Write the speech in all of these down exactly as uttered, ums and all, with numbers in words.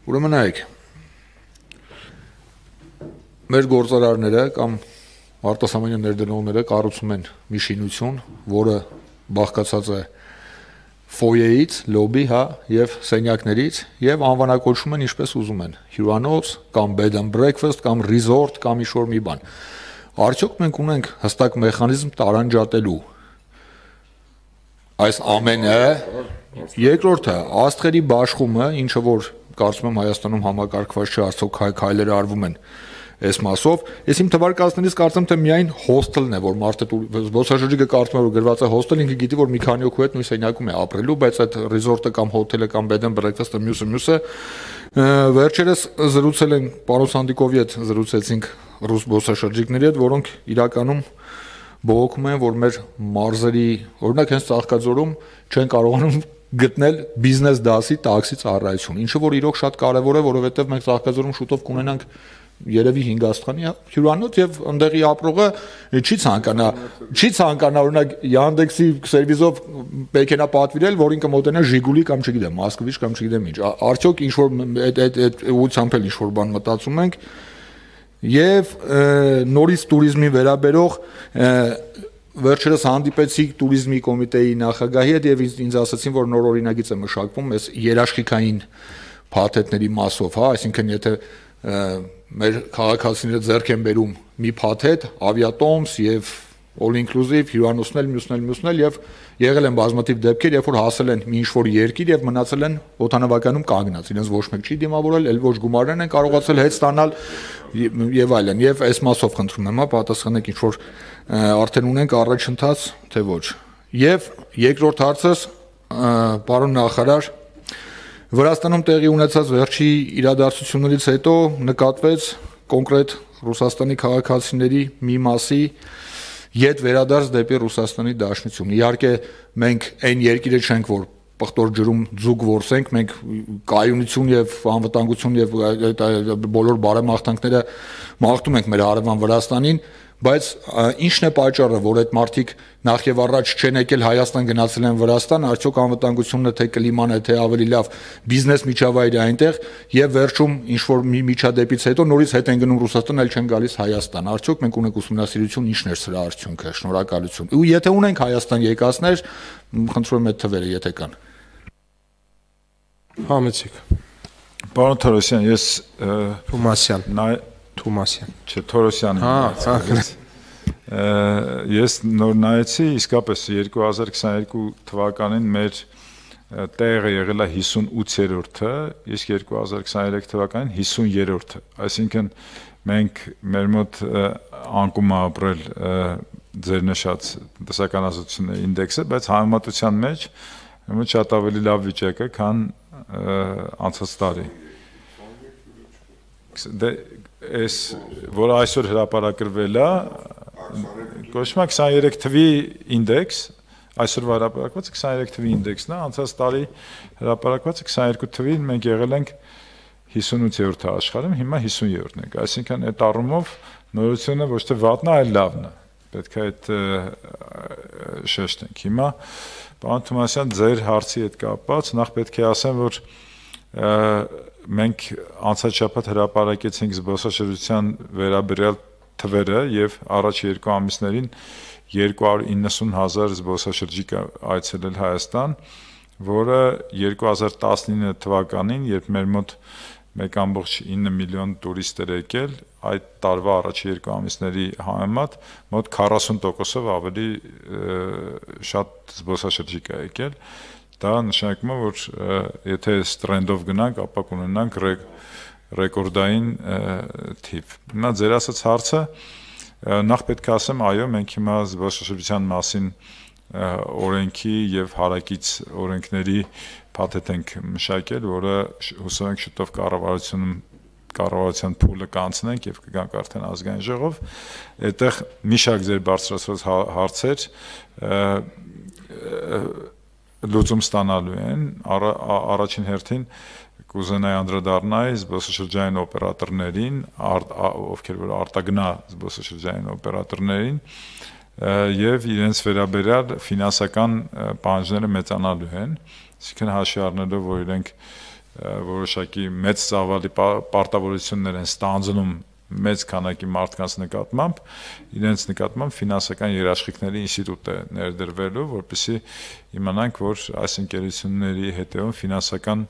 Ուրեմն նայեք, մեր գործարարները կամ արտասահմանյան ներդրողները կառուցում են մի շինություն, որը բաղկացած է ֆոյեից, լոբի, հա, եւ սենյակներից եւ անվանակոչում են ինչպես ուզում են՝ հյուրանոց կամ bed and breakfast կամ resort կամ ինչ-որ մի բան։ Արդյոք մենք ունենք հստակ մեխանիզմ տարանջատելու այս ամենը։ Երկրորդը, աստղերի բաշխումը, ինչը որ կարծում եմ Հայաստանում համակարգված չէ, արդյոք քայլերը արվում են այս մասով, ես իմ թվարկածներից կարծեմ թե միայն հոստելն է, որ մարդը զբոսաշրջիկը կարծում է որ գրված է հոստել, ինքը գիտի որ մի քանի օքու հետ նույն սենյակում է ապրելու, բայց այդ ռիզորտը կամ հոթելը կամ bed and breakfast-ը մյուսը մյուսը վերջերս զրուցել են պարոն Սանդիկովի հետ զրուցեցինք ռուս զբոսաշրջիկների հետ, որոնք իրականում բողոքում են, որ մեր մարզերի, օրինակ հենց Ծաղկաձորում չեն կարողանում գտնել բիզնես դասի տաքսի ծառայություն, ինչը որ իրոք շատ կարևոր է, որովհետև մենք Ծաղկաձորում շուտով կունենանք երևի հինգ աստղանի հյուրանոց եւ ընդեղի ապրողը չի ցանկանա չի ցանկանա օրինակ Yandex-ի սերվիզով մեքենա պատվիրել, որին կմոտենա Ժիգուլի կամ չգիտեմ, Մոսկվիչ կամ չգիտեմ ինչ։ Արդյոք ինչ որ այդ այդ այդ ուղղությամբ էլ ինչ որ բան մտածում ենք եւ նորից туриզմի վերաբերող վերջերս հանդիպեցի туриզմի կոմիտեի նախագահի հետ եւ ինձ ասացին, որ նոր օրինագիծ է մշակվում այս երաշխիքային փաթեթների մասով, հա, այսինքն եթե մեր քաղաքացիները ձեռք են բերում մի փաթեթ, ավիատոմս եւ all inclusive հյուրանոցնել, մյուսնել, մյուսնել եւ եղել են բազմաթիվ դեպքեր, երբ որ հասել են մի ինչ-որ երկիր եւ մնացել են օդանավականում կանգնած, իրենց ոչ մեկ չի դիմավորել, էլ ոչ գումարներն են կարողացել հետ ստանալ եւ այլն։ Եվ այս մասով խնդրում եմ, հա, պատասխանեք ինչ-որ արդեն ունենք առաջընթաց, թե ոչ։ Եվ երկրորդ հարցս, պարոն նախարար, Վրաստանում տեղի ունեցած վերջի իրադարձություններից հետո նկատվեց կոնկրետ Ռուսաստանի քաղաքացիների մի մասի ետ վերադարձ դեպի Ռուսաստանի Դաշնություն։ Իհարկե մենք այն երկիրը չենք, որ պղտոր ջրում ձուկ որսենք, մենք կայունություն եւ անվտանգություն եւ բոլոր բարեմաղթանքները մաղթում ենք մեր հարևան Վրաստանին, բայց ինչն է պատճառը, որ այդ մարդիկ նախ եւ առաջ չեն եկել Հայաստան, գնացել են Վրաստան, արդյոք անվտանգությունն է, թե կլիման է, թե ավելի լավ բիզնես միջավայրը այնտեղ եւ վերջում ինչ որ մի միջադեպից հետո նորից հետ են գնում Ռուսաստան, այլ չեն գալիս Հայաստան։ Արդյոք մենք ունենք ուսումնասիրություն, ինչն է սրա արդյունքը։ Շնորհակալություն։ Ու եթե ունենք Հայաստան եկածներ, խնդրում եմ այդ թվերը, եթե կան։ Համեցիկ։ Պարոն Թորոսյան, ես Թումասյան, նա Թումասյան։ Չէ, Թորոսյան։ Հա, ես նոր նայեցի, իսկապես երկու հազար քսաներկու թվականին մեր տեղը եղել է հիսունութերորդը, իսկ երկու հազար քսաներեք թվականին հիսուներորդը։ Այսինքն մենք մեր մոտ անկում է ապրել ձեր նշած տնտեսականացությունների ինդեքսը, բայց համեմատության մեջ մոտ շատ ավելի լավ վիճակ է, քան անցած տարի։ Դե այս որ այսօր հրապարակրվել է կոչվում է քսաներեք թվի ինդեքս, այսօրվա հրապարակված քսաներեք թվի ինդեքսն է, անցած տարի հրապարակված քսաներկու թվին մենք եղել ենք հիսունութերորդը աշխարհում, հիմա հիսուներորդն ենք, այսինքն այդ առումով նորությունը ոչ թե վատն է, այլ լավն է, պետք է այդ շեշտենք։ Հիմա պարոն Թումասյան, ձեր հարցի հետ կապված նախ պետք է ասեմ, որ մենք անցած շաբաթ հրապարակեցինք զբոսաշրջության վերաբերյալ թվերը եւ առաջ երկու ամիսներին երկու հարյուր իննսուն հազար զբոսաշրջիկ այցելել Հայաստան, որը երկու հազար տասնինը թվականին, երբ մեր մոտ մեկ կόμ ինը միլիոն տուրիստ էր եկել, այդ տարվա առաջ երկու ամիսների համեմատ մոտ քառասուն տոկոսով ավելի շատ զբոսաշրջիկ է եկել։ Դա նշանակում է, որ եթե այս տրենդով գնանք, ապա կունենանք ռեկորդային թիվ։ Հիմա ձեր ասած հարցը, նախ պետք է ասեմ, այո, մենք հիմա զբոսաշրջության մասին օրենքի եւ հարակից օրենքների փաթեթ ենք մշակել, որը հուսով ենք շուտով կառավարությունում կառավարության փուլը կանցնենք եւ կգանք արդեն ազգային ժողով։ Այդտեղ մի շարք ձեր բարձրացրած հարցեր լուծում ստանալու են, առաջին հերթին կուզենայի անդրադառնալ զբոսաշրջային օպերատորներին, ովքեր որ արտագնա զբոսաշրջային օպերատորներին եւ իրենց վերաբերյալ ֆինանսական պահանջները մեծանալու են, այսինքն հաշվի առնելով, որ իրենք որոշակի մեծ ծավալի պարտավորություններ են ստանձնում մեծ քանակի մարդկանց նկատմամբ, իրենց նկատմամբ ֆինանսական երաշխիքների ինստիտուտ է ներդրվելու, որպեսզի իմանանք, որ այս ընկերությունների հետևում ֆինանսական,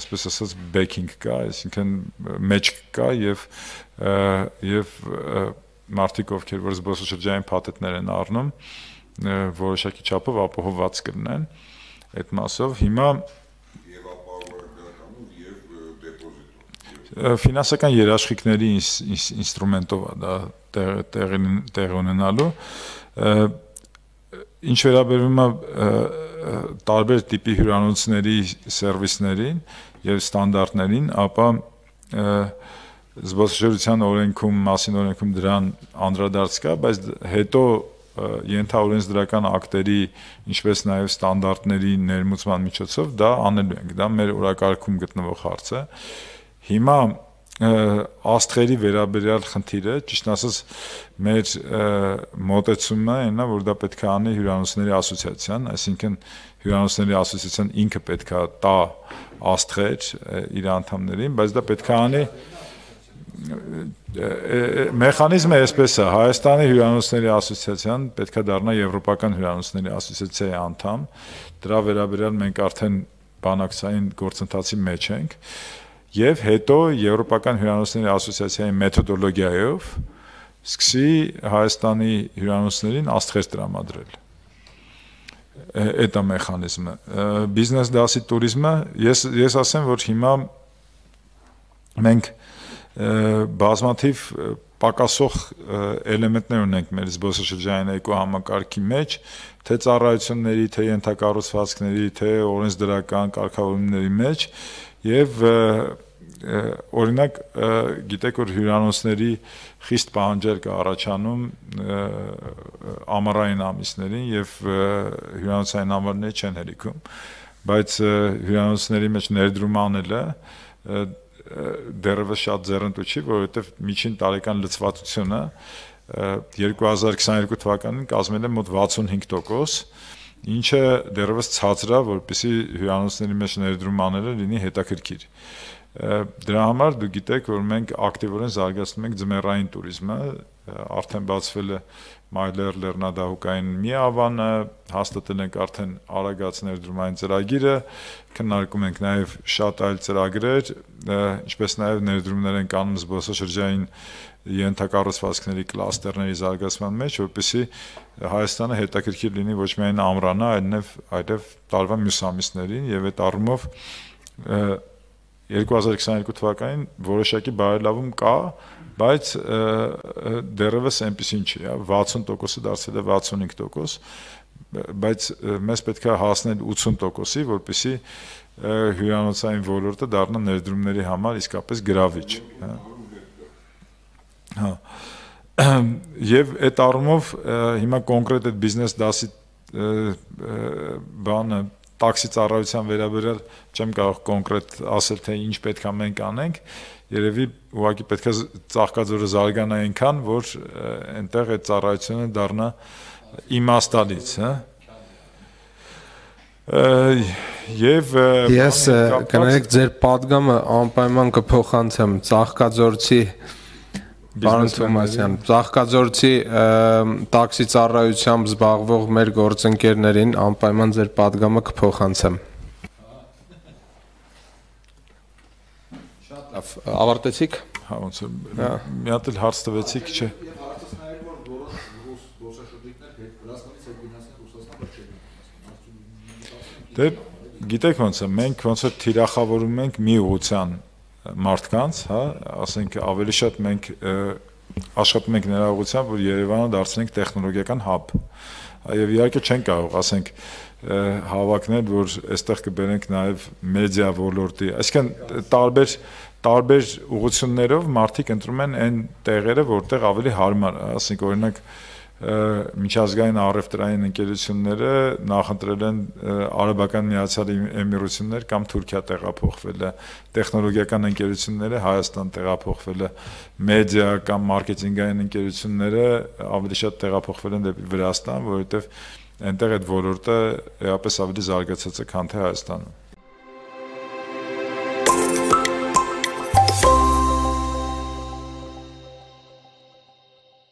այսպես ասած, backing կա, այսինքն մեջ կա եւ եւ մարդիկ, ովքեր որ զբոսաշրջային փաթեթներ են առնում, որոշակի չափով ապահովված կլինեն այդ մասով։ Հիմա ֆինանսական երաշխիքների ինստրումենտով է դա տեղ ունենալու, ինչ վերաբերում է տարբեր տիպի հյուրանոցների սերվիսներին եւ ստանդարտներին, ապա զբոսաշրջության օրենքում, մասին օրենքում դրան անդրադարձ կա, բայց հետո ենթաօրենսդրական ակտերի, ինչպես նաև ստանդարտների ներմուծման միջոցով դա անելու ենք, դա մեր օրակարգում գտնվող հարց է։ Հիմա աստղերի վերաբերյալ խնդիրը, ճիշտ ասած, մեր մոտեցումը այն է, որ դա պետք է անի հյուրանոցների ասոցիացիան, այսինքն հյուրանոցների ասոցիացիան ինքը պետք է տա աստղեր իր անդամներին, բայց դա պետք է անի մեխանիզմը այսպես է, Հայաստանի հյուրանոցների ասոցիացիան պետք է դառնա Եվրոպական հյուրանոցների ասոցիացիայի անդամ, դրա վերաբերյալ մենք արդեն բանակցային գործընթացի մեջ ենք, եւ հետո Եվրոպական հյուրանոցների ասոցիացիայի մեթոդոլոգիայով սկսի Հայաստանի հյուրանոցներին աստղեր տրամադրել։ Այդ է մեխանիզմը։ Բիզնես դասի տուրիզմը, ես ես ասեմ, որ հիմա մենք բազմաթիվ պակասող էլեմենտներ ունենք մեր զբոսաշրջային էկոհամակարգի մեջ, թե ծառայությունների, թե ենթակառուցվածքների, թե օրենսդրական կարգավորումների մեջ, եւ օրինակ գիտեք, որ հյուրանոցների խիստ պահանջեր կա առաջանում ամառային ամիսներին եւ հյուրանոցային ամառները չեն հերիքում, բայց հյուրանոցների մեջ ներդրում անելը դեռևս շատ ձեռնտու չի, որովհետեւ միջին տարեկան լցվածությունը երկու հազար քսաներկու թվականին կազմել է մոտ վաթսունհինգ տոկոս, ինչը դեռևս ցածր է, որպեսզի հյուրանոցների մեջ ներդրում անելը լինի հետաքրքիր։ Դրա համար դուք գիտեք, որ մենք ակտիվորեն զարգացնում ենք ձմեռային տուրիզմը, արդեն բացվել է Մայլեր լեռնադահուկային մի ավանը, հաստատել ենք արդեն Արագած ներդրումային ծրագիրը, քննարկում ենք նաև շատ այլ ծրագրեր, ինչպես նաև ներդրումներ ենք անում զբոսաշրջային ենթակառուցվածքների կլաստերների զարգացման մեջ, որպեսզի Հայաստանը հետաքրքիր լինի ոչ միայն ամռանը, այլև այլև տարվա մյուս ամիսներին, եւ այդ առումով երկու հազար քսաներկու թվականին որոշակի բարելավում կա, բայց դեռևս այնպեսին չի, վաթսուն տոկոսը դարձել է վաթսունհինգ տոկոս, բայց մեզ պետք է հասնել ութսուն տոկոսի, որպեսզի հյուրանոցային ոլորտը դառնա ներդրումների համար իսկապես գրավիչ։ Հա։ Եվ այդ առումով հիմա կոնկրետ այդ բիզնես դասի բանը տաքսի ծառայության վերաբերյալ չեմ կարող կոնկրետ ասել, թե ինչ պետք է մենք անենք, երևի ուղղակի պետք է Ծաղկաձորը զարգանա այնքան, որ այնտեղ այդ ծառայությունը դառնա իմաստալից, հա։ Եվ ես կներեք ձեր պատգամը անպայման կփոխանցեմ Ծաղկաձորցի Պարոն Թոմասյան, Ծաղկաձորցի տաքսի ծառայությամբ զբաղվող մեր գործընկերներին անպայման ձեր պատգամը կփոխանցեմ։ Շատ լավ, ավարտեցիք։ Հա, ոնց է, մի հատ էլ հարց տվեցիք, չէ։ Դե գիտեք ոնց է, մենք ոնց է թիրախավորում ենք մի ուղղության մարդկանց, հա, ասենք ավելի շատ մենք աշխատում ենք նրա ուղղությամբ, որ Երևանը դարձնենք տեխնոլոգիական հաբ։ Եվ իհարկե չեն կարող, ասենք, հավակնել, որ այստեղ կբերենք նաև մեդիա ոլորտի, այսինքն տարբեր տարբեր ուղղություններով մարդիկ ընտրում են այն տեղերը, որտեղ ավելի հարմար է, ասենք օրինակ միջազգային առևտրային ընկերությունները նախընտրել են Արաբական Միացյալ Էմիրություններ կամ Թուրքիա տեղափոխվելը, տեխնոլոգիական ընկերությունները Հայաստան տեղափոխվելը, մեդիա կամ մարքեթինգային ընկերությունները ավելի շատ տեղափոխվել են դեպի Վրաստան, որովհետև այնտեղ այդ ոլորտը էապես ավելի զարգացած է, քան թե Հայաստանում։